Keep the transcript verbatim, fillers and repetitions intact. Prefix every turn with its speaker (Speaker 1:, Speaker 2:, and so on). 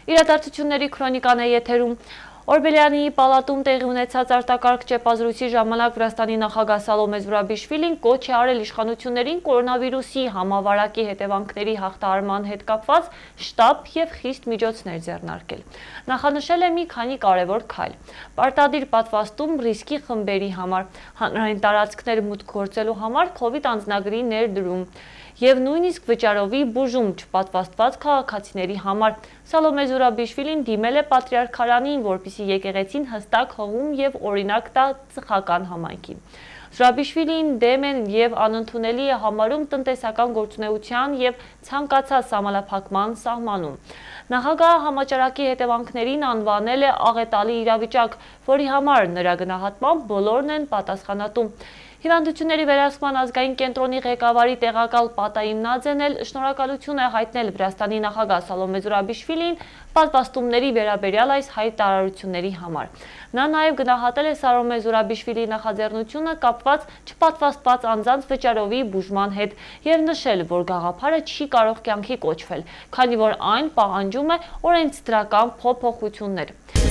Speaker 1: Իրադարձությունների քրոնիկան է եթերում։ Օրբելյանի պալատում տեղի ունեցած արտակարգ ճեպազրույցի ժամանակ Վրաստանի նախագահ Սալոմե Զուրաբիշվիլին կոչ է արել իշխանություններին կորոնավիրուսի համավարակի հետևանքների հաղթահարման հետ կապված շտապ և խիստ միջոցներ ձեռնարկել։ Նախանշել է մի քանի կարևոր քայլ. պարտադիր պատվաստում ռիսկի խմբերի համար, հանրային տարածքներ մուտք գործելու համար քովիդ անձնագրի ներդրում և նույնիսկ վճարովի բուժում չպատվաստված քաղաքացիների համար։ Սալոմե Զուրաբիշվիլին դիմել է պատրիարքարանին, որպեսզի եկեղեցին հստակ հղում և օրինակ տա ծխական համայնքին։ Զուրաբիշվիլին դեմ է և անընդունելի է համարում տնտեսական գործունեության և ցանկացած սահմանափակման սահմանում։ Նախագահը համաճարակի հետևանքներին անվանել է աղետալի իրավիճակ, որի համար նրա գնահատմամբ բոլորն են պատասխանատու։ Հիվանդությունների վերահսկման ազգային կենտրոնի ղեկավարի տեղակալ Պատայիմ Նաձեն էլ շնորհակալություն է հայտնել Վրաստանի նախագահ Սալոմե Զուրաբիշվիլիին պատվաստումների վերաբերյալ այս հայտարարությունների համար։ Նա նաև գնահատել է Սալոմե Զուրաբիշվիլիի նախաձեռնությունը կապված չպատվաստված անձանց վճարովի բուժման հետ և նշել, որ գաղափարը չի կարող կյանքի կոչվել, քանի որ այն պահանջում է օրենսդրական փոփոխություններ։